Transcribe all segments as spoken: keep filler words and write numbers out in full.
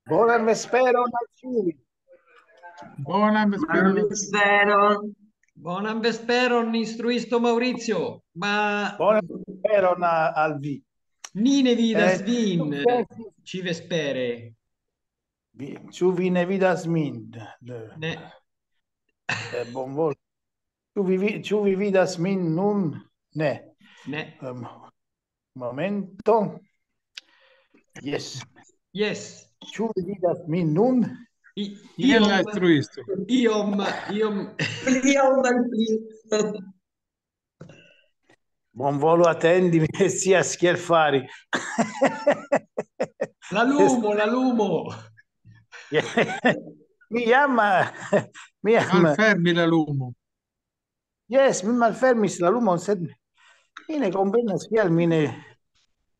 Bonan vesperon al ĉiuj. Bonan vesperon. Vesperon. Bonan vesperon, instruisto Maurizio. Ma Bonan vesperon a- al vi. Ni ne vidas Eh, vin sukcesis. Ĉi vespere. Vi- Ĉu vi ne vidas min? Ne. Eh, bonvolu. Ĉu vi, vi- ĉu vi vidas min nun? Ne. Ne. Em, momento. Yes. Yes. Ĉu vi vidas min nun? I- Jen la Iom, instruisto. iom, iom. Pli aŭ malpli. Bonvolu atendi, mi ne scias kiel fari. La lumo, la lumo. Mi jam, mi jam, Malfermi la lumo. Yes, mi malfermis la lumon, sed mi ne komprenas kial mi ne...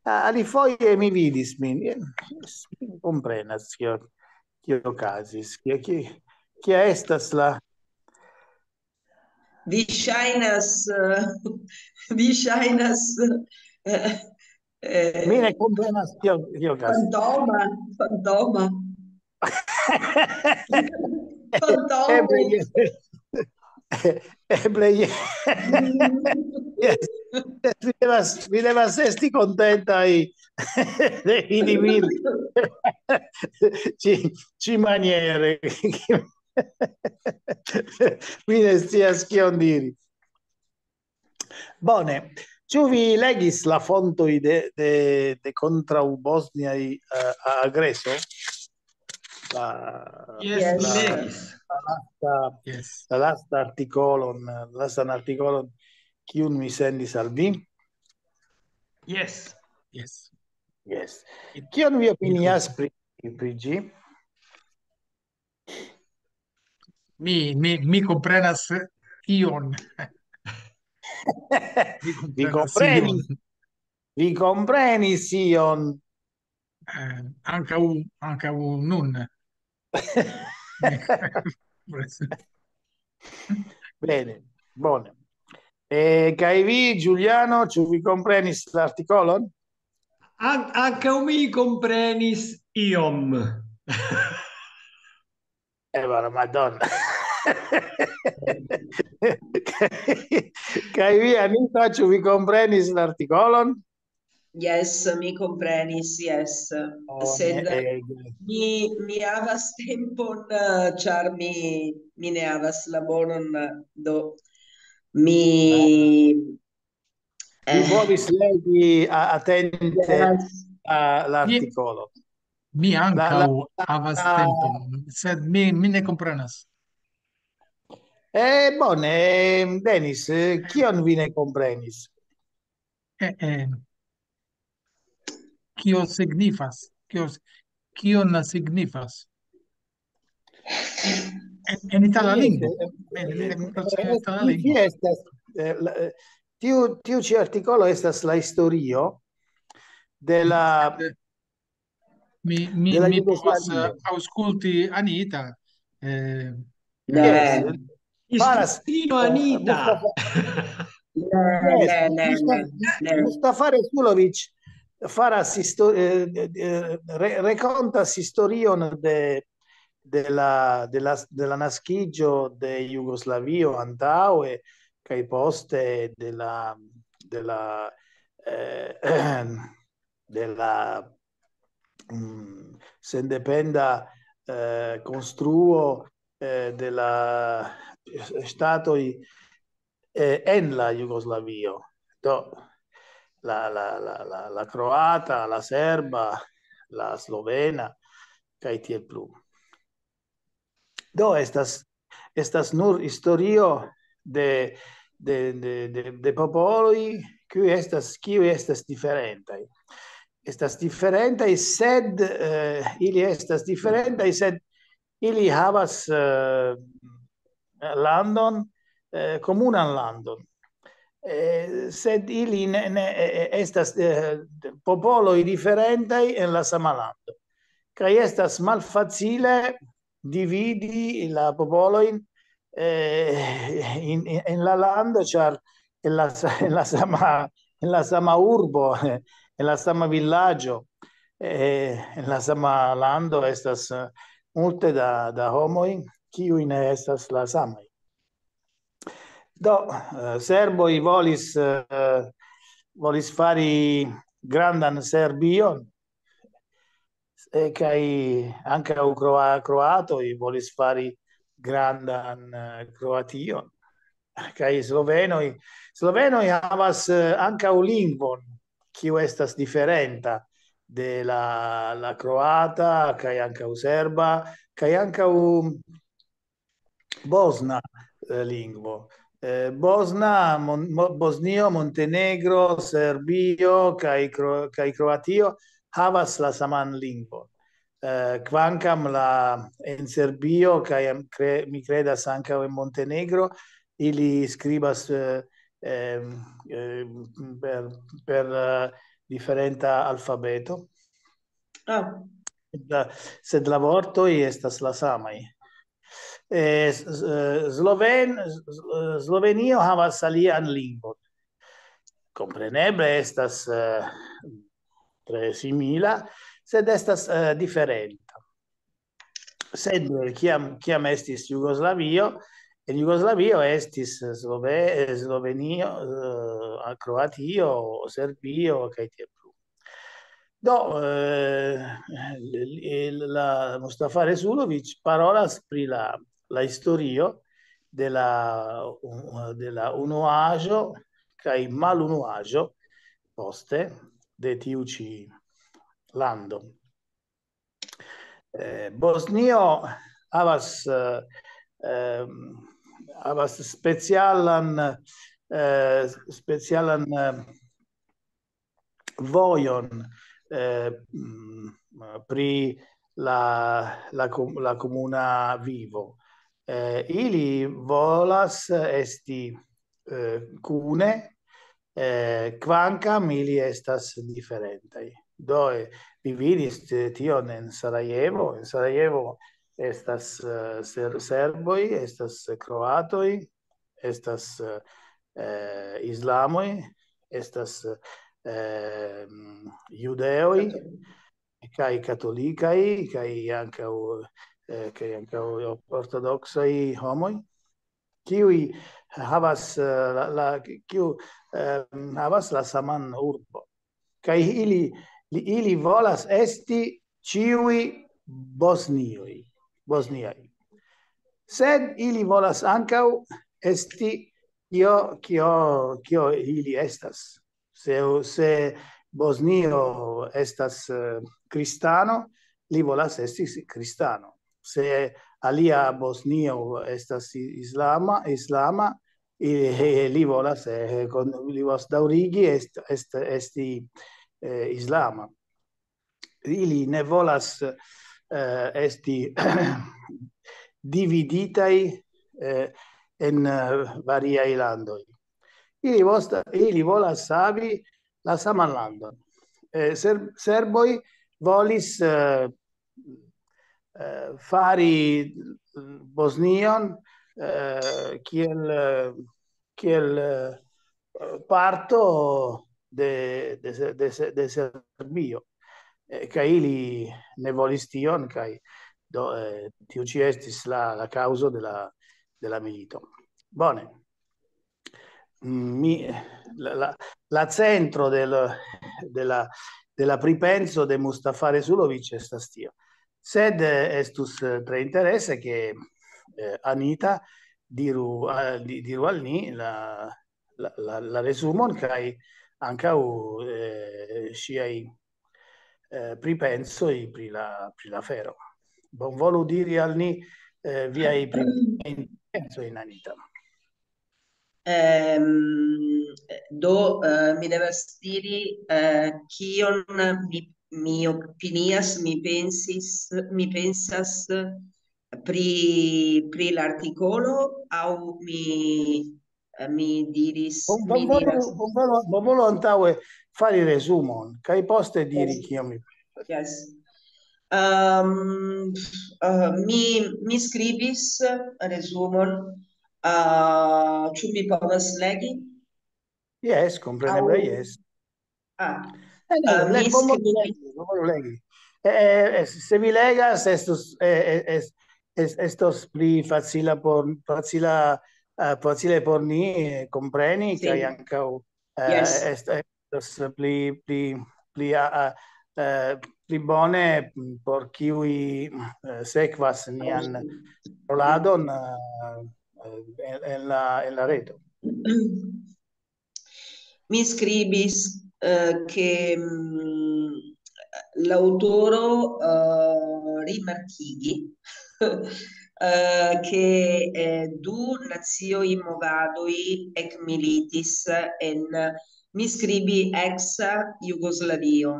A- Alifoje mi vidis min. Yes, mi ne komprenas kio, kio okazis, kia, kia, kia estas la... Vi ŝajnas, eh, vi ŝajnas eh, eh, Mi ne komprenas kio, kio okazis. Fantoma, fantoma. Fantoma. Eble, eble, yes. Yes. Vi devas, vi devas esti kontentaj de vidi min ĉi, ĉi maniere. Mi ne scias kion diri. Bone, ĉu vi legis la fontoj de, de, de kontraŭ Bosniaj eh, agreso? La, Yes, Yes. Mi legis. la lasta, Yes. la lasta artikolon, la lastan artikolon, kiun mi sendis al vi? Yes. Yes. Yes. Kion vi opinias pri, pri ĝi? Mi, mi, mi komprenas ion. Mi Vi komprenas komprenis, ion. Vi komprenis ion. Eh, ankaŭ, ankaŭ nun. Bene, bone. E, kaj vi, Giuliano, ĉu vi komprenis la artikolon? An- Ankaŭ mi komprenis iom. Eh, ma la Madonna. Kaj, kaj vi, Anita, ĉu vi komprenis la artikolon? Yes, mi komprenis, yes. Oh, Sed eh, mi, mi havas tempon, eh, ĉar mi, mi ne havas laboron, eh, do mi Vi eh, povis legi a- atente yes. la- l'artikolon. Mi ankaŭ havas la- tempon, sed mi, mi ne komprenas. Eh, bone, eh, Denis, eh, kion vi ne komprenis? Eh, eh, kio signifas? Kio, kion signifas? En, en itala lingvo. Eh, En, en, en, en itala ĝi lingvo. Estas, eh, la, eh, tiu, tiu ĉi artikolo estas la historio de la... Mi, mi, de la mi povas Jugoslavio. Eh, aŭskulti Anita. Eh, Ne, Yes. Istruistino Faras- Anita. ne, Yes, ne, ne, Mustafa, ne, ne. Mustafa Resulovic faras histo- eh, eh, re- rakontas historion de, de la, de la, de la naskiĝo de Jugoslavio antaŭe kaj poste de la, de la, eh, de la mm, sendependa eh, konstruo eh, de la ŝtatoj eh, en la Jugoslavio. Do, la, la, la, la, la kroata, la serba, la slovena, kaj tiel plu. Do, estas, estas nur historio de, de, de, de, de popoloj, kiuj estas, kiuj estas diferentaj. Estas diferentaj, sed eh, ili estas diferentaj, sed ili havas eh, landon, eh, komunan landon. Eh, sed ili ne, ne, eh, estas eh, popoloj diferentaj en la sama lando. Kaj estas malfacile dividi la popolojn eh, in, in, en la lando, ĉar en la, sa- en la sama, en la sama urbo, en la sama vilaĝo, Eh, en la sama lando estas, eh, multe da, da homoj, kiuj ne estas la samaj. Do, eh, serboj volis, eh, volis fari grandan Serbion, eh, kaj ankaŭ kroa-, kroatoj volis fari grandan, eh, Kroation. Kaj slovenoj, slovenoj havas, eh, ankaŭ lingvon, kiu estas diferenta de la, la kroata, kaj ankaŭ serba, kaj ankaŭ bosna, eh, lingvo. Eh, bosna, Mon-, Mo-, Bosnio, Montenegro, Serbio, kaj Kro-, kaj Kroatio havas la saman lingvon. Eh, kvankam la, en Serbio, kaj en kre-, mi kredas ankaŭ en Montenegro, ili skribas, eh, em, eh, per, per, eh, diferenta alfabeto. Ah. Sed la, sed la vortoj estas la samaj. Eh, s-, s-, eh, Sloven-, s-, eh, Slovenio havas alian lingvon. Kompreneble estas, eh, tre simila, sed estas, eh, diferenta. Sed, eh, kiam, kiam estis Jugoslavio, en Jugoslavio estis, eh, Slove-, eh, Slovenio, eh, Kroatio, Serbio, kaj tiel plu. Do, eh, l-, l-, la Mustafa Resulovic parolas pri la, la historio de la, de la unuaĵo kaj malunuaĵo poste de tiu ĉi lando. Eh, Bosnio havas, eh, ehm, havas specialan, eh, specialan, eh, vojon, eh, mm, pri la, la kom-, la komuna vivo. Eh, ili volas esti, eh, kune, eh, kvankam ili estas diferentaj. Do, eh, vi vidis, eh, tion en Sarajevo. En Sarajevo estas, eh, ser-, serboj, estas kroatoj, estas, eh, islamoj, estas, eh, mm, judeoj, kaj katolikaj, kaj ankaŭ, eh, kaj ankaŭ ortodoksaj homoj, kiuj havas, eh, la, la, kiu, eh, havas la saman urbo. Kaj ili, ili volas esti ĉiuj bosnioj, bosniaj. Sed ili volas ankaŭ esti kio, kio, kio ili estas. Se, se Bosnio estas, eh, kristano, li volas esti kristano. Se alia Bosnio estas i-, islama, islama, i-, eh, li volas, eh, kon-, li volas daŭrigi est-, est-, esti, eh, islama. Ili ne volas, eh, esti dividitaj, eh, en, eh, variaj landoj. Ili vosta-, ili volas havi la saman landon. Eh, ser-, serboj volis, eh, eh, fari Bosnion, eh, kiel, eh, kiel, eh, parto de, de Se-, de Se-, de Serbio. Eh, kaj ili ne volis tion, kaj do, eh, tiu ĉi estis la, la kaŭzo de la, de la milito. Bone. Mi, la, la, la centro del, de la, de la pripenso de Mustafa Resulovic estas tio. Sed, eh, estus, eh, tre interese ke, eh, Anita diru, eh, di-, diru al ni la, la, la, la resumon kaj ankaŭ, eh, ŝiaj, eh, pripensoj pri la, pri la afero. Bonvolu diri al ni, eh, viaj pri-, pripensojn, Anita. Ehm, do, eh, mi devas diri, eh, kion mi, mi opinias, mi pensis, mi pensas pri, pri l'artikolo, aŭ mi, eh, mi diris, Bon-, mi bonvolu, diras bonvolu, bonvolu antaŭe fari resumon, kaj poste diri Yes. kion mi Yes. Ehm, eh, mi, mi skribis resumon, eh, ĉu mi povas legi? Yes, kompreneble, Aŭ yes. Ah, Eh, ne, eh, le-, mi bonvolu skribis legi, bonvolu legi. Eh, eh, eh, se vi legas, estos, eh, eh, es-, es-, estos pli facila por, facila, eh, facile por ni, eh, kompreni, Sì. Kaj ankaŭ, eh, Yes. est-, estos pli, pli, pli, a, a, eh, pli bone, mm, por kiuj, eh, sekvas nian paroladon, eh, eh, en, en la, en la reto. Mi skribis, eh, ke, mm, l'aŭtoro, eh, rimarkigi, eh, ke, eh, du nacioj movadoj ekmilitis en, mi skribi, eksa Jugoslavio,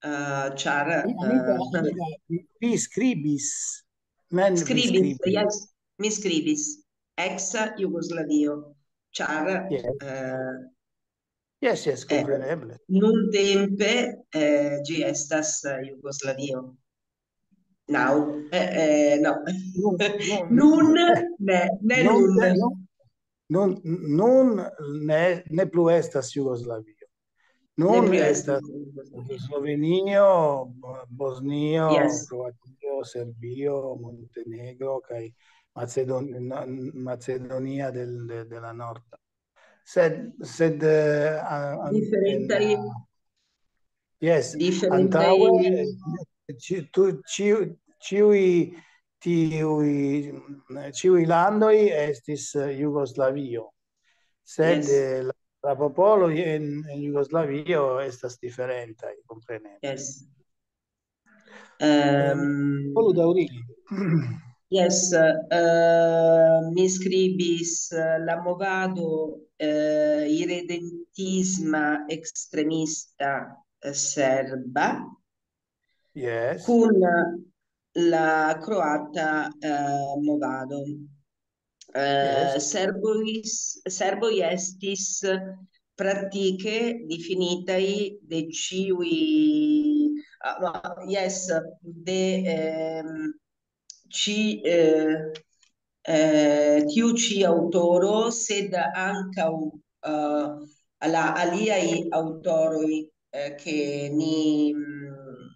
eh, ĉar, Anita, eh, Anita, vi skribis, ne vi Skribis, skribis. Yes, mi skribis. Eksa Jugoslavio, ĉar, Yes. eh, Yes, yes, eh, kompreneble. Nuntempe, eh, ĝi estas, eh, Jugoslavio. Naŭ, eh, eh, no. Nun, nun, Nun, ne, ne nun, nun. ne, nun. Nun, nun ne, ne plu estas Jugoslavio. Ne Nun plu estas estas Jugoslavio. Slovenio, Bo-, Bosnio, Yes. Kroatio, Serbio, Montenegro, kaj Macedon-, na-, Macedonia del, de, de la Norda. Sed, sed, eh, a-, an-, Diferentaj en la Yes, Diferentaj antaŭe, eh, ĉi-, tu-, ĉiu-, ĉiuj tiuj, mm, ĉiuj landoj estis, eh, Jugoslavio. Sed, Yes. eh, la, la popoloj en, en Jugoslavio estas diferentaj, kompreneble. Yes. Ehm, Ehm, volu daŭrigi. Yes, eh, mi skribis, eh, la movado, eh, irredentisma ekstremista, eh, serba Yes. kun la kroata, eh, movado. Eh, Yes. Serboj, serboj estis praktike difinitaj de ĉiuj, ah, ma-, yes, de, ehm, ĉi-, eh, eh, tiu ĉi aŭtoro, sed ankaŭ, eh, la aliaj aŭtoroj, eh, ke ni, mm,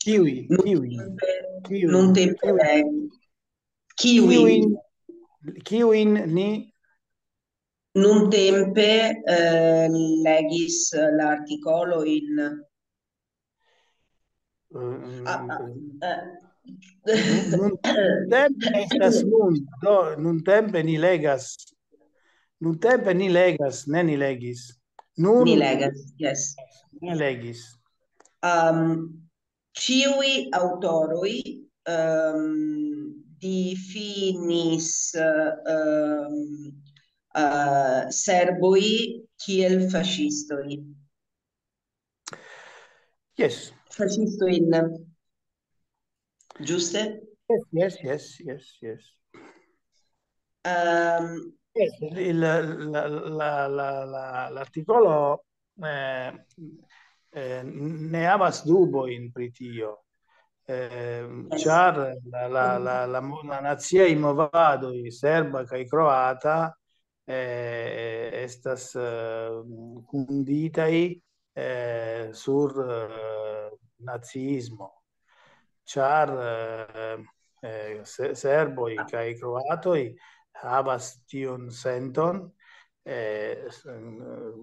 Kiuj, kiuj, nuntempe, kiuj, nuntempe kiuj, legi. Kiuj? kiujn, kiujn ni Nuntempe, eh, legis la artikolojn. Eh, Ah, ah, eh, eh. nun-, nuntempe estas nun, do nuntempe ni legas, nuntempe ni legas, ne ni legis. Nun Ni legas, yes. ni legis. Ehm, ĉiuj aŭtoroj, ehm, difinis, ehm, eh, serboj kiel faŝistoj. Yes. Faŝistojn. Ĝuste? Yes, yes, yes, yes, yes. Ehm, Yes, il, la, la, la, la, la, l'articolo, eh, eh, ne havas dubojn pri tio. Eh, Yes. ĉar la, la, la, la mo-, la naciaj movadoj serba kaj kroata, eh, estas, eh, kunditaj, eh, sur, eh, naciismo. Ĉar, eh, eh, se-, serboj kaj kroatoj havas tiun senton, eh, s-,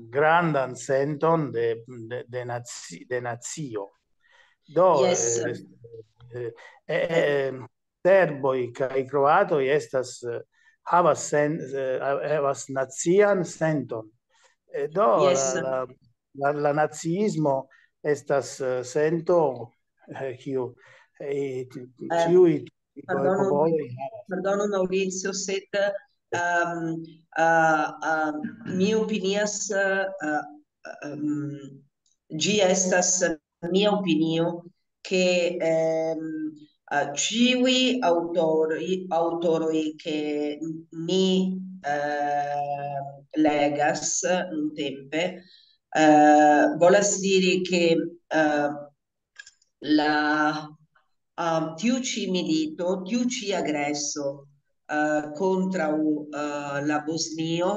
grandan senton de, de, de naci-, de nacio. Do, Yes. eh, eh, eh, eh, serboj kaj kroatoj estas, eh, havas sen-, eh, havas nacian senton. Eh, do, Yes. la, la, la, la naciismo estas, eh, sento, eh, kiu, eh, Eh, ĉiuj pardonu, popoloj havas. Pardonu, Maurizio, sed, ehm, eh, eh, mi opinias, eh, ehm, ĝi estas mia opinio, ke, ehm, eh, ĉiuj aŭtoroj, aŭtoroj, ke ni, eh, legas nuntempe, eh, volas diri, ke, eh, la, eh, tiu ĉi milito, tiu ĉi agreso, eh, kontraŭ, eh, la Bosnio,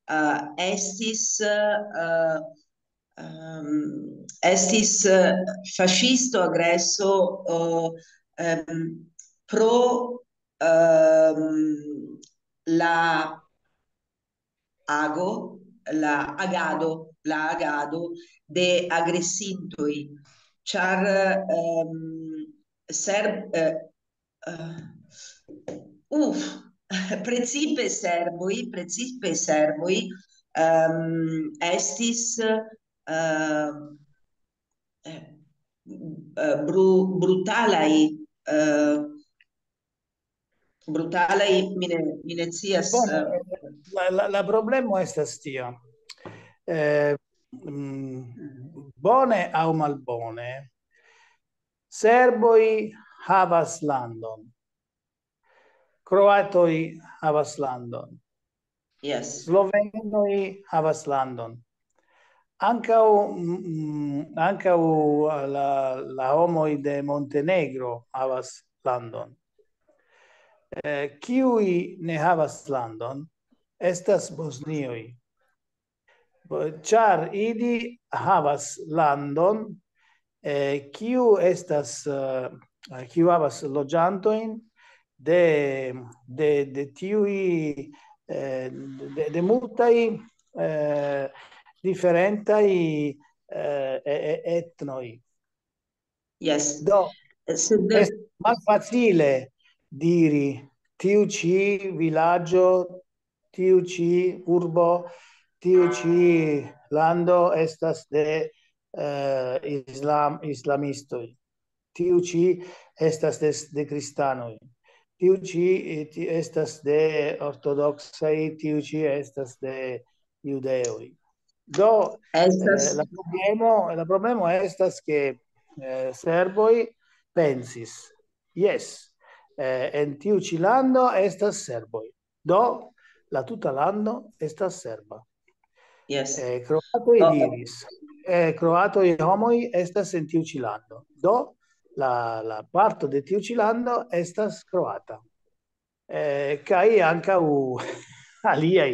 eh, estis, eh, ehm, estis, eh, faŝisto agreso, eh, ehm, pro, ehm, la ago, la agado, la agado de agresintoj, ĉar, ehm, serb-, eh, eh, uf, precipe serboj, precipe serboj, ehm, estis, eh, eh, eh, bru-, brutalaj, eh, brutalaj, mi ne, mi ne scias, bone, eh, la, la, la problemo estas tio. Eh, mm, bone aŭ malbone, serboj havas landon, kroatoj havas landon, yes, slovenoj havas landon. Ankaŭ, mm, ankaŭ la, la homoj de Montenegro havas landon. Eh, kiuj ne havas landon, estas Bosnioj. Bo-, ĉar ili havas landon, eh, kiu estas, eh, kiu havas loĝantojn de, de, de tiuj, eh, de, de multaj, eh, diferentaj, eh, e-, e-, etnoj. Yes. Do, sed estas malfacile diri tiu ĉi vilaĝo, tiu ĉi urbo, tiu ĉi lando estas de, eh, islam-, islamistoj. Tiu ĉi estas de, de kristanoj. Tiu ĉi, eh, ti-, estas de ortodoksaj, tiu ĉi estas de judeoj. Do, estas, eh, la problemo, la problemo estas ke, eh, serboj pensis, jes, eh, en tiu ĉi lando estas serboj. Do, la tuta lando estas serba. Yes. Eh, kroatoj diris, eh, kroatoj homoj estas en tiu ĉi lando. Do, la, la parto de tiu ĉi lando estas kroata. Eh, kaj ankaŭ aliaj,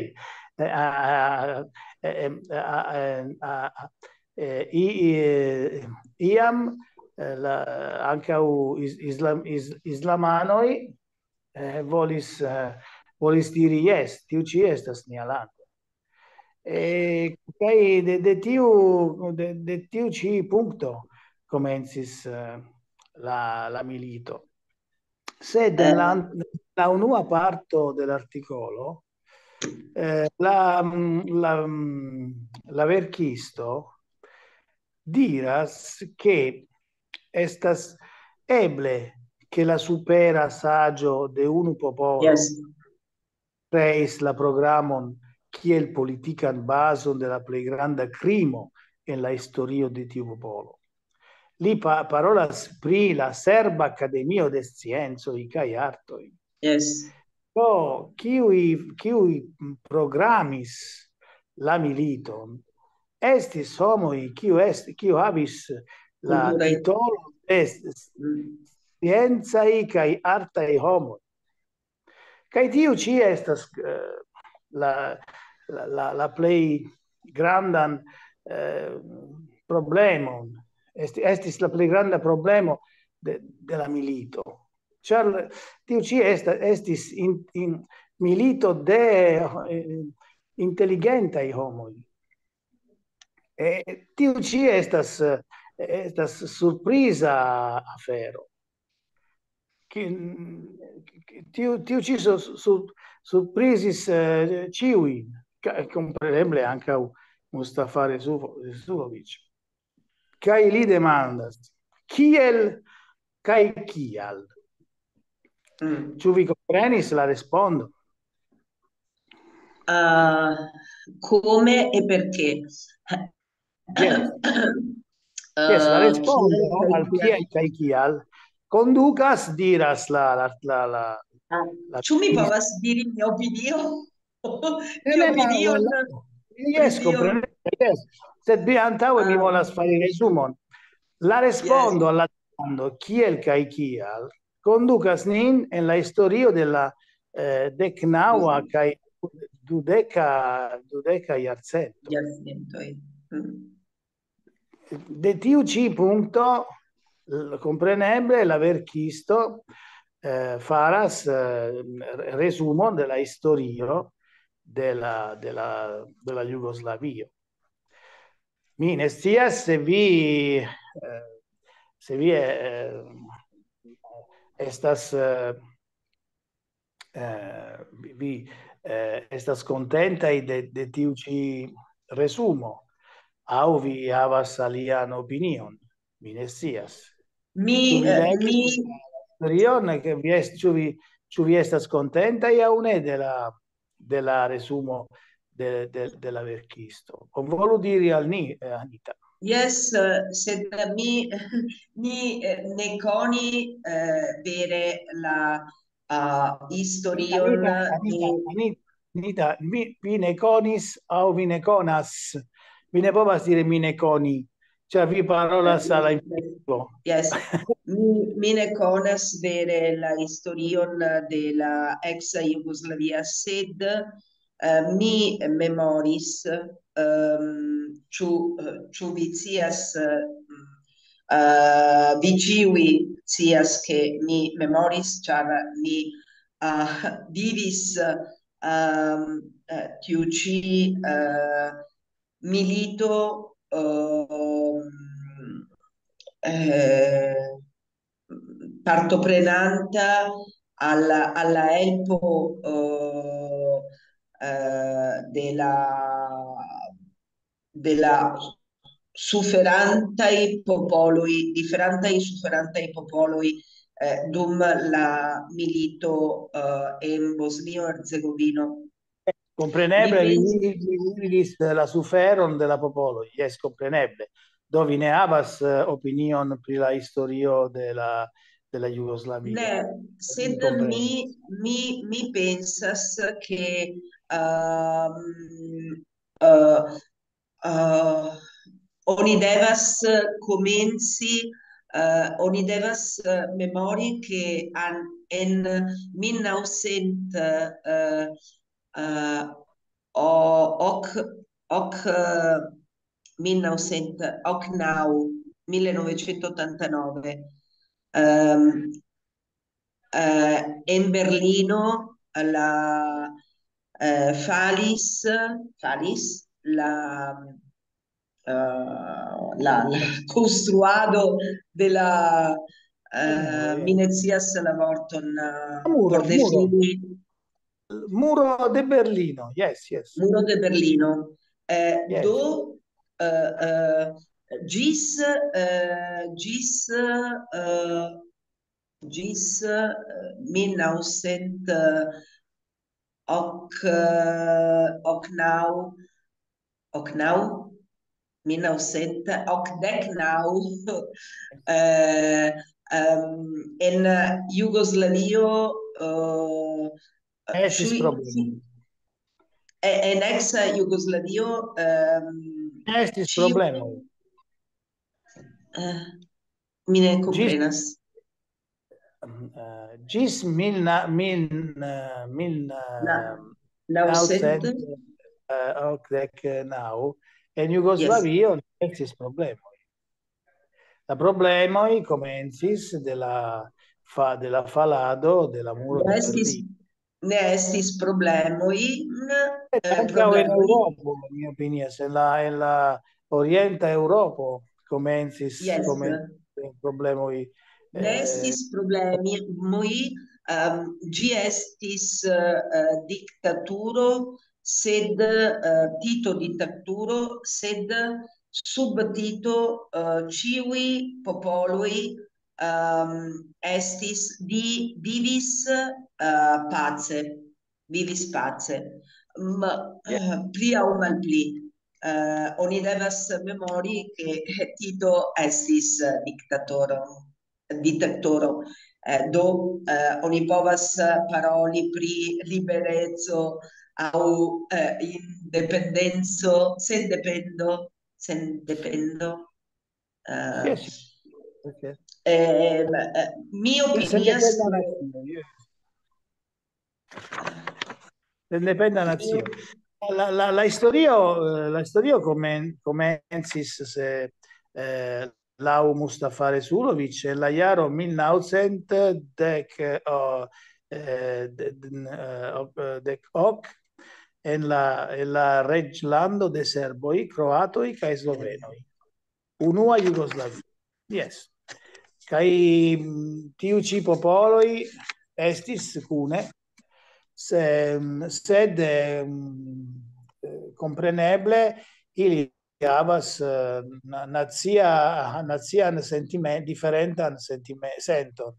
eh, a, a, eh, em, a, a, a, a, eh, i-, i-, iam, eh, la, ankaŭ is-, islam-, is-, islamanoj, eh, volis, eh, volis diri, "Jes, tiu ĉi estas nia lando." Eh, kaj de, de tiu, de, de tiu ĉi punkto komencis, eh, la, la milito. Sed en la, eh, la unua parto de l'artikolo, eh, la, mm, la, mm, la verkisto diras ke estas eble ke la supera saĝo de unu popolo, yes, kreis la programon kiel politikan bazon de la plej granda krimo en la historio de tiu popolo. Li pa-, parolas pri la Serba Akademio de Sciencoj kaj Artoj. Yes. Do, kiuj, kiuj programis la militon, estis homoj, kiu est-, kiu havis la, kulturaj, titolo de s-, mm, sciencaj kaj artaj homoj. Kaj tiu ĉi estas, eh, la, la, la, la plej grandan, eh, problemon. Esti-, estis la plej granda problemo de, de la milito. Ĉar tiu ĉi esta-, estis in, in milito de, eh, inteligentaj homoj. Eh, tiu ĉi estas, eh, estas surpriza afero. Ki-, tiu, tiu ĉi su-, su-, surprizis, eh, ĉiujn, ka-, kompreneble ankaŭ Mustafa Resulo-, Resulovic. Kaj li demandas, "Kiel kaj kial?" Mm. Ĉu vi komprenis la respondon? Ah, come e perché? Yes. Yes, la, eh, respondo kiel al kaj kiel kaj kial kondukas, diras la, la, la, la, ah, la, ĉu mi povas diri mian opinion? Ne, ne, ma, opinion, la, yes, pri tio, kompreneble, yes. Sed vi antaŭe mi, ah, volas fari resumon. La respondo, yes, al la demando, "Kiel kaj kial?", kondukas nin en la historio de la, eh, deknaŭa, mm, kaj dudeka, dudeka jarcento. Jarcentoj. Mm. De tiu ĉi punkto, l-, kompreneble, la verkisto, eh, faras, eh, re-, resumon de la historio de la, de la, de la Jugoslavio. Mi ne scias se vi, eh, se vi, eh, estas, eh, eh, vi, vi, eh, estas kontentaj de, de tiu ĉi resumo, aŭ vi havas alian opinion, mi ne scias. Mi, Ĉu vi eh, legis mi la historion, ke vi est-, ĉu vi, ĉu vi estas kontentaj aŭ ne de la, de la resumo de, de, de la verkisto? Bonvolu diri al ni, eh, Anita. Jes, eh, sed mi, mi, eh, ne koni, eh, vere la, ah, historion Anita, Anita, de Anita, Anita, mi, vi ne konis aŭ vi ne konas? Vi ne povas diri "mi ne koni", ĉar vi parolas al la infero. Yes. Mi, mi ne konas vere la historion de la eksa Jugoslavia, sed, eh, mi memoris, ehm, ĉu, eh, ĉu vi scias, eh, eh, vi ĉiuj scias, ke mi memoris, ĉar mi, eh, vivis, ehm, eh, tiu ĉi, eh, milito, ehm, eh, partoprenanta alla, alla helpo, eh, eh, de la, de la suferantaj popoloj, diferantaj suferantaj popoloj, eh, dum la milito, eh, en Bosnio-Hercegovino. Kompreneble, Mi vi, vi, vi vivis la suferon de la popolo, jes, kompreneble. Do vi ne havas, eh, opinion pri la historio de la, de la Jugoslavio. Ne, sed Mi komprenas. mi, mi, mi pensas ke, ehm, eh, eh, oni devas komenci, eh, oni devas, eh, memori ke an-, en mil naŭcent, eh, eh, o-, ok, ok, eh, mil naŭcent ok naŭ, mil novecent ottantanove, ehm, eh, en Berlino la, eh, falis, falis la, eh, la, la konstruado de la, eh, Eh, mi ne scias la vorton, eh, muro, por muro. defini. Muro de Berlino, yes, yes. Muro de Berlino. Eh, Yes. Do, eh, eh, ĝis, eh, ĝis, eh, ĝis, eh, mil naŭcent ok, eh, ok naŭ, ok naŭ, mil naŭcent okdek naŭ, eh, em, en Jugoslavio, eh, Estis ĉiuj, problemoj. e-, en eksa Jugoslavio, em, Estis ĉiuj problemoj. Eh, mi ne Ĝis komprenas. Eh, ĝis mil na-, mil, eh, mil, Na-, eh, naŭcent, naŭcent, eh, okdek naŭ, en Yes. Jugoslavio ne estis problemoj. La problemoj komencis de la fa-, de la falado de la muro Ne de estis, Berlino. Ne estis problemoj, n-, Eh, eh, ankaŭ en problemoj. Eŭropo, mi opinias, en la, en la orienta Eŭropo komencis, Yes. komencis problemoj, Ne eh, estis problemoj, ehm, ĝi estis, eh, eh, diktaturo, sed, eh, Tito diktaturo, sed sub Tito, eh, ĉiuj popoloj, ehm, estis vi-, vivis, eh, pace, vivis pace. M-, Yes. eh, pli aŭ malpli. Eh, oni devas memori, ke Tito estis, eh, diktatoro, diktatoro. Eh, do, eh, oni povas, eh, paroli pri libereco aŭ, eh, independenco, sendependo, sendependo. Eh, Yes. Ok. ehm, eh, mi Yes, opinias sendependa nacio, yes. Sendependa nacio. La, la, la historio, eh, la historio komen-, komencis, se, eh, laŭ Mustafa Resulovic, en la jaro mil naŭcent dek, eh, de-, de-, eh, ok, eh, dek ok, en la, en la reĝlando de serboj, kroatoj kaj slovenoj. Unua Jugoslavio. Yes. Kaj, mm, tiu ĉi popoloj estis kune, se-, sed, eh, kompreneble ili havas, eh, na-, nacia, nacian sentime-, diferentan sentime-, senton.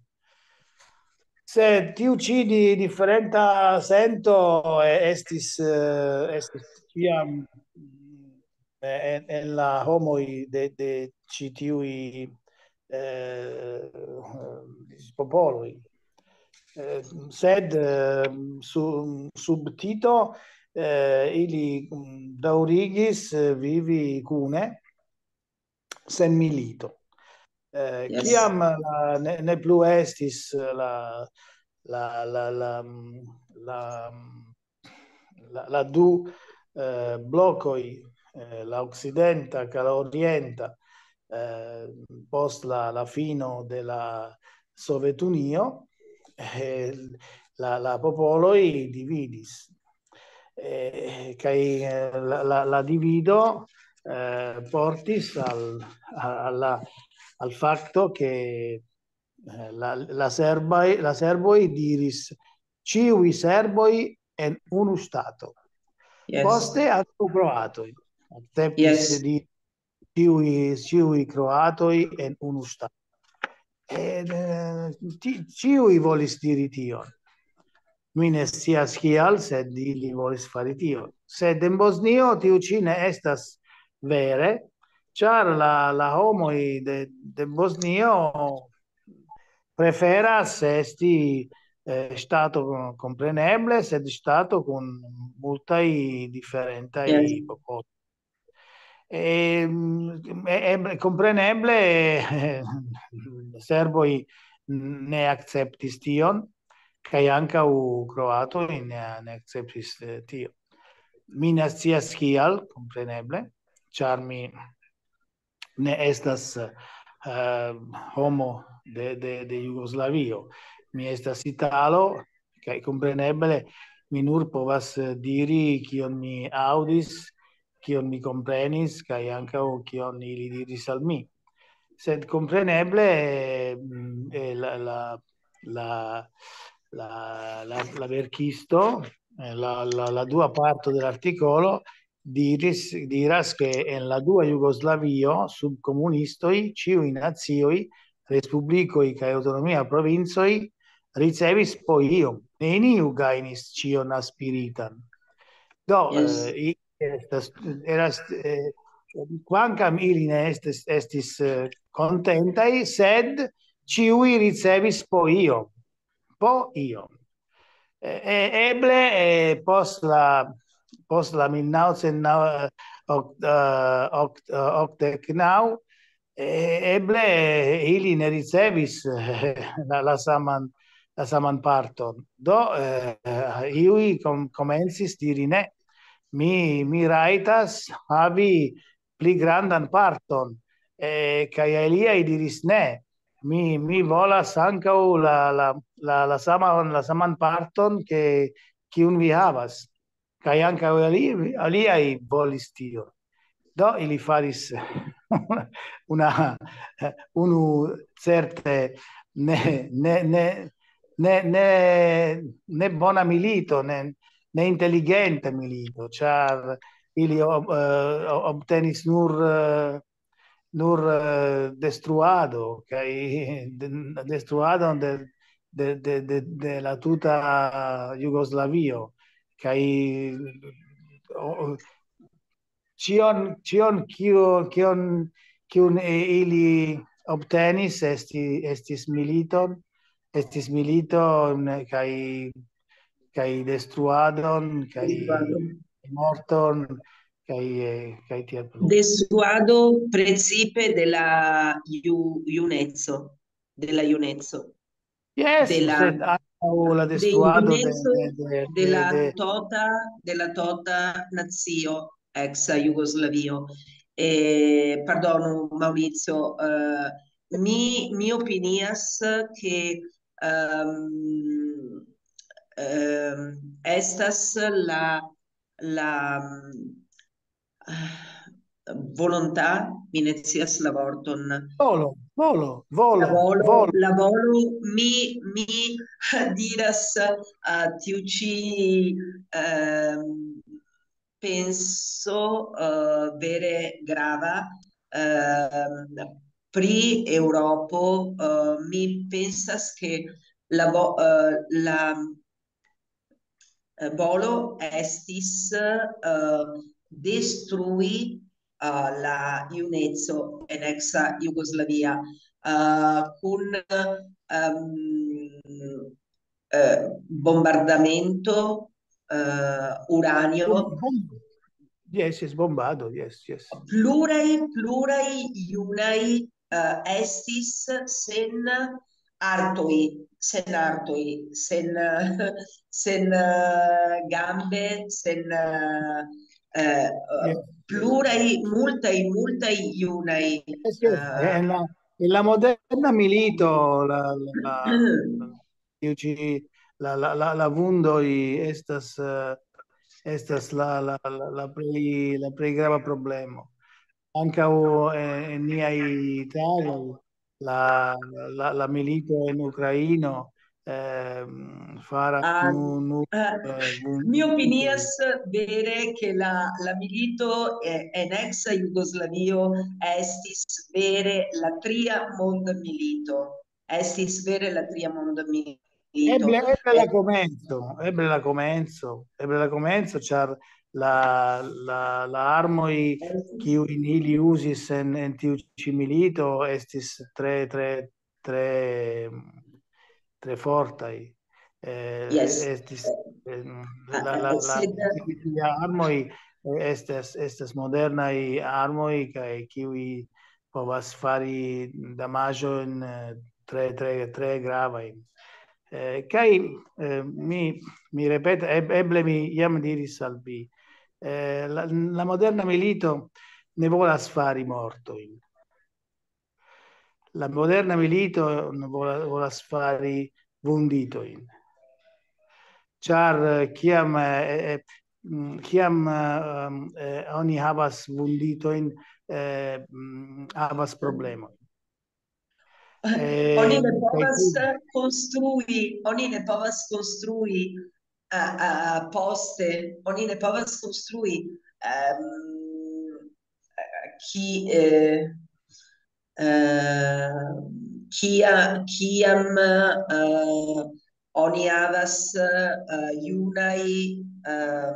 Sed tiu ĉi di-, diferenta sento, eh, estis, eh, estis ĉiam, mm, eh, en, en la homoj de, de ĉi tiuj, eh, popoloj. Eh, sed, eh, su-, sub Tito, eh, ili, mm, daŭrigis, eh, vivi kune sen milito. Eh, Yes. Kiam la, ne, ne plu estis la, la, la, la, mm, la, mm, la, la du, eh, blokoj, eh, la okcidenta kaj la orienta, eh, post la, la fino de la Sovetunio, eh, la, la popoloj dividis. Eh, kaj, eh, la, la, la divido, eh, portis al, a-, al, al fakto ke, eh, la, la serbaj, la serboj diris: "Ĉiuj serboj en unu ŝtato." Yes. Poste ankaŭ kroatoj akceptis Yes. di-, "Ĉiuj, ĉiuj kroatoj en unu ŝtato." Eh, eh, ti-, ĉiuj volis diri tion. Mi ne scias kial, sed ili volis fari tion. Sed en Bosnio tiu ĉi ne estas vere, ĉar la, la homoj de, de Bosnio preferas esti, eh, ŝtato kompreneble, sed ŝtato kun multaj diferentaj Yes. popoloj. Ehm, e-, eble, kompreneble, eh, serboj ne akceptis tion, kaj ankaŭ kroatoj ne, ne akceptis, eh, tion. Mi ne scias kial, kompreneble, ĉar mi ne estas, eh, homo de, de, de Jugoslavio. Mi estas italo, kaj kompreneble mi nur povas, eh, diri kion mi aŭdis, kion mi komprenis, kaj ankaŭ kion ili diris al mi. Sed kompreneble, eh, mm, eh, la, la, la, la, la, la verkisto, eh, la, la, la dua parto de l'artikolo diris, diras ke en la dua Jugoslavio, sub komunistoj, ĉiuj nacioj, respublikoj kaj aŭtonomia provincoj ricevis po iom. Neniu gajnis ĉion aspiritan. Do, Yes. eh, i-, estas, eras, eh, kvankam ili ne estis, estis, eh, kontentaj, sed ĉiuj ricevis po iom. Po iom. Eh, eh, eble, eh, post la, post la mil naŭcent naŭ-, ok-, eh, ok-, eh, okdek naŭ, eh, eble ili ne ricevis, eh, la, la saman, la saman parton. Do, eh, iuj kom-, komencis diri: "Ne, mi, mi rajtas havi pli grandan parton." Eh, kaj aliaj diris: "Ne, mi, mi volas ankaŭ la, la, la, la saman, la saman parton ke, kiun vi havas." Kaj ankaŭ ali-, aliaj volis tion. Do ili faris una, unu certe ne, ne, ne, ne, ne, ne bona milito, ne, ne inteligenta milito, ĉar ili ob-, eh, obtenis nur, eh, nur, eh, destruado, kaj de-, destruadon de, de, de, de, de la tuta Jugoslavio, kaj, o, o, ĉion, ĉion, kio, kion, kiun i-, ili obtenis, esti-, estis militon, estis militon, kaj, kaj destruadon, kaj Destruadon. Morton, kaj, eh, kaj tiel plu. Destruado precipe de la ju-, juneco, de la juneco. Yes, De la, sed ankaŭ la de destruado de, juneco de, de, de de, la de tota, de la tota nacio, eksa Jugoslavio. Eh, pardonu, Maurizio, eh, mi, mi opinias ke, ehm, ehm, estas la, la, eh, volontà, mi ne scias la vorton. Volo, volo, La volo, volo, volo. la volo, mi, mi diras, eh, tiu ĉi, ehm, penso, eh, vere grava, ehm, pri Eŭropo, eh, mi pensas ke la vo-, eh, la, eh, volo estis, eh, destrui, eh, la juneco en eksa Jugoslavia, eh, kun, ehm, eh, bombardamento, eh, uranio. Bom-, bom-, yes, yes, bombado, yes, yes. Pluraj, pluraj junaj, eh, estis sen artoj, sen artoj, sen, eh, sen, eh, gambe, sen, eh, eh, Yes. Pluraj, multaj, multaj junaj, Yes, yes. eh, En la, en la moderna milito, la, la, la, tiu ĉi, la, la, la, la vundoj estas, eh, estas la, la, la, la plej, la plej grava problemo. Ankaŭ, eh, en niaj tagoj, la, la, la milito en Ukraino, ehm, faras Ah, nu-, nu-, eh, eh, vun-, mi opinias vere ke la, la milito, eh, en eksa Jugoslavio estis vere la tria mondmilito. Estis vere la tria mondmilito. Eble, eble la Eh, komenco, eble la komenco, eble la komenco, ĉar la, la, la armoj, estis kiujn ili uzis en, en tiu ĉi milito, estis tre, tre, tre, tre fortaj. Eh, Yes. Estis, Eh, em, ah, la, eh, la, la, sed la armoj, eh, estas, estas modernaj armoj, kaj kiuj povas fari damaĝojn, eh, tre, tre, tre gravajn. Eh, kaj, eh, mi, mi ripet-, eb-, eble mi jam diris al vi, eh, la, la moderna milito ne volas fari mortojn. La moderna milito non vola-, volas fari vunditojn. Ĉar, eh, kiam, eh, eh, mm, kiam, eh, em, eh, oni havas vunditojn, eh, mm, havas problemojn. Oni ne Eh, kaj povas tiuj konstrui, oni ne povas konstrui a, a, a poste, oni ne povas konstrui, ehm, ki-, eh, eh, kia-, kiam, eh, oni havas, eh, junaj, eh,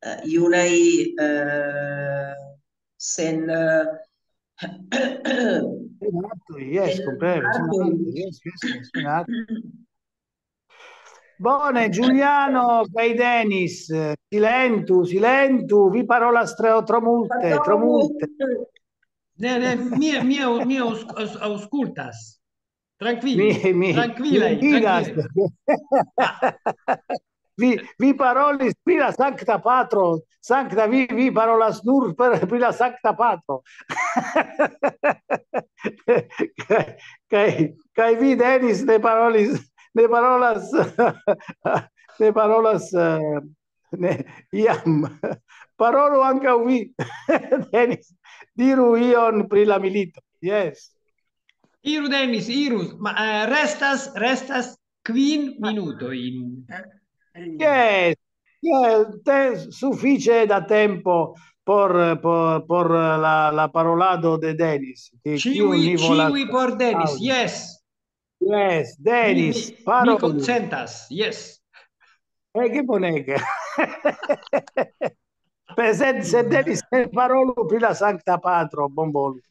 eh, junaj, eh, sen, eh, Sen artoj, yes, sen kompreneble, sen artoj. Artoj, yes, yes, sen Artoj. Bone, Giuliano kaj Denis, eh, silentu, silentu, vi parolas tro, tro multe, tro multe. Ne, ne, mi, mi, mi aus-, aus-, aŭskultas. Trankvile, Mi, mi, trankvile, mi vidas. Trankvile. Ah. Vi, vi parolis pri la Sankta Patro, Sankta, vi, vi parolas nur per, pri la Sankta Patro. Kaj, kaj, kaj vi, Denis, ne parolis, ne parolas, ne parolas, eh, ne, iam. Parolu ankaŭ vi, Denis. Diru ion pri la milito. Yes. Iru, Denis, iru. Ma, eh, restas, restas kvin minutojn. Yes. Yes, te, sufiĉe da tempo por, por, por la, la parolado de Denis. Ke kiun Ĉiuj, ni volas ĉiuj por Denis, aŭdi. Yes. Yes, Denis, Mi, mi, mi parolu. Konsentas, yes. Ege bonege. Pe-, sed, sed Denis, eh, parolu pri la Sankta Patro, bonvolu.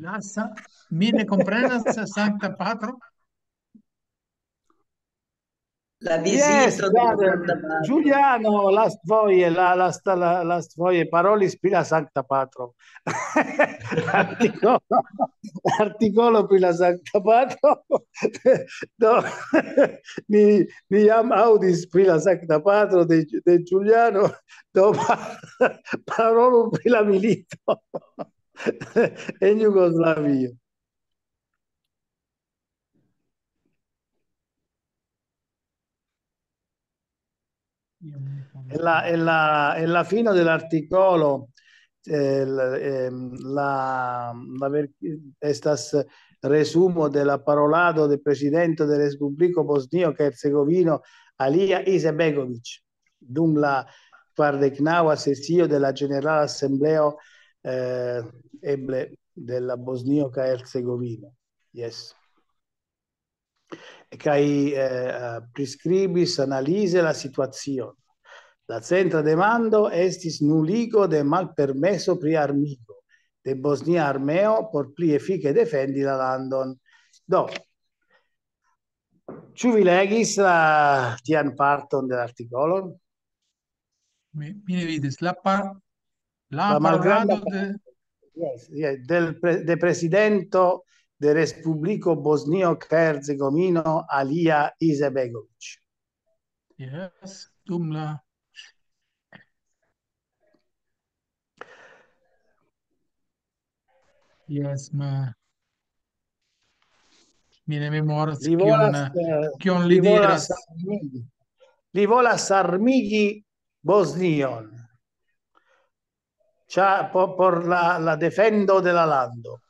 Lasa, mi ne komprenas, Sankta Patro. La vizito de la Sankta Patro. Giuliano, lastfoje, la, la, la, lastfoje parolis pri la Sankta Patro. Artikolo, artikolo pri la Sankta Patro. Do, ni, ni jam aŭdis pri la Sankta Patro de, de Giuliano. Do, pa-, parolu pri la milito en Jugoslavio. En la, en la, en la fino de l'artikolo, eh, la, ehm, la, la ver-, estas resumo de la parolado de presidento de Respubliko Bosnio kaj Hercegovino, Alija Izetbegović, dum la kvardeknaŭa sesio de la Ĝenerala Asembleo, eh, eble de la Bosnio kaj Hercegovino. Jes. Kaj, eh, priskribis analize la situacion. La centra demando estis nuligo de malpermeso pri armigo de Bosnia armeo por pli efike defendi la landon. Do, ĉu vi legis la, tian parton de l'artikolon? Mi, mi ne vidis. La pa-, la La malgranda parolado de Yes, yes, del pre-, de presidento de Respubliko Bosnio kaj Hercegovino, Alija Izetbegović. Yes, dum la Yes, ma mi ne memoras Li kion, volas, eh, kion li li volas diras. Armigi. Li volas armigi Bosnion. Ĉa-, po-, por la, la defendo de la lando.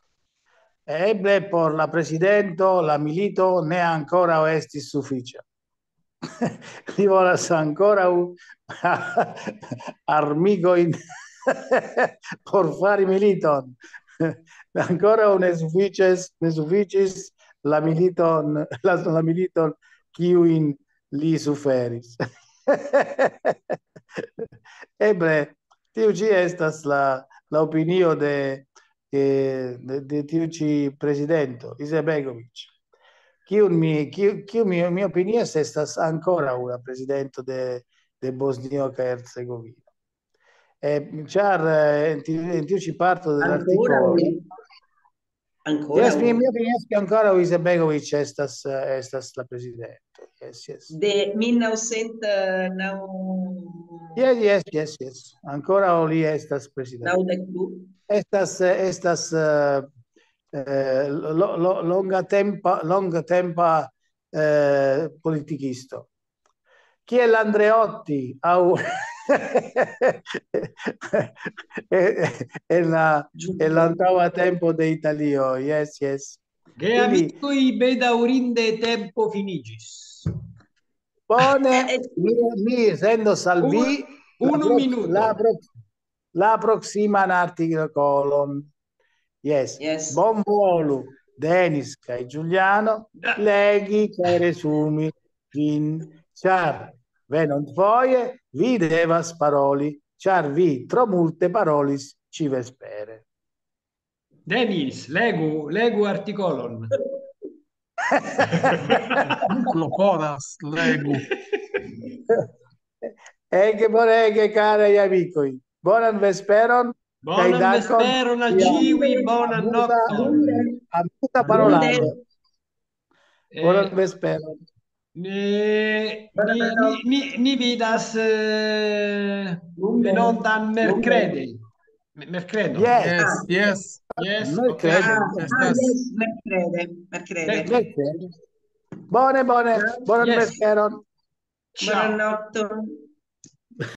Eble por la presidento la milito ne ankoraŭ estis sufiĉa. Li volas ankoraŭ armigojn por fari militon. Ankoraŭ ne sufiĉas, ne sufiĉis la militon, la, la militon, kiujn li suferis. Eble, tiu ĉi estas la, la opinio de, eh, de, de tiu ĉi presidento, Izetbegović. Kiun mi, kiu, kiu mi, mi opinias estas ankoraŭ la presidento de, de Bosnio kaj Hercegovino. Eh, ĉar, eh, en tiu, en tiu ĉi parto de Ankoraŭ? L'artikolo. Ankoraŭ? Yes, mi, mi opinias ke ankoraŭ Izetbegović estas, eh, estas la presidento. Yes, yes. De mil naŭcent naŭ Yes, yes, yes, yes. Ankoraŭ li estas presidento. Naŭdek du? Estas, eh, estas, eh, eh, lo, lo, longa tempa, longa tempa, eh, politikisto. Kiel Andreotti, aŭ en la, en la antaŭa tempo de Italio. Yes, yes. Ili Geamikoj, bedaŭrinde tempo finiĝis. Bone, mi, mi sendos al vi Un-, la unu proks-, minuto. La proks-, la proksiman artikolon. Yes. Yes. Bonvolu, Denis kaj Giuliano, legi kaj resumi ĝin, ĉar venonfoje vi devas paroli, ĉar vi tro multe parolis ĉivespere. Denis, legu, legu artikolon. Klopodas, legu. Ege bonege, karaj amikoj. Bonan vesperon. Bonan vesperon al ĉiuj, bonan nokton. Amuza parolado. Eh, bonan vesperon. Ni, ni, ni, ni vidas, eh, venontan merkrede. Me-, merkredon. Yes. Yes, yes. Yes, merkrede. Ok. Ah, ah, yes, merkrede, merkrede. Merkrede. Bone, bone. Bonan vesperon. Ciao. Bonan nokton.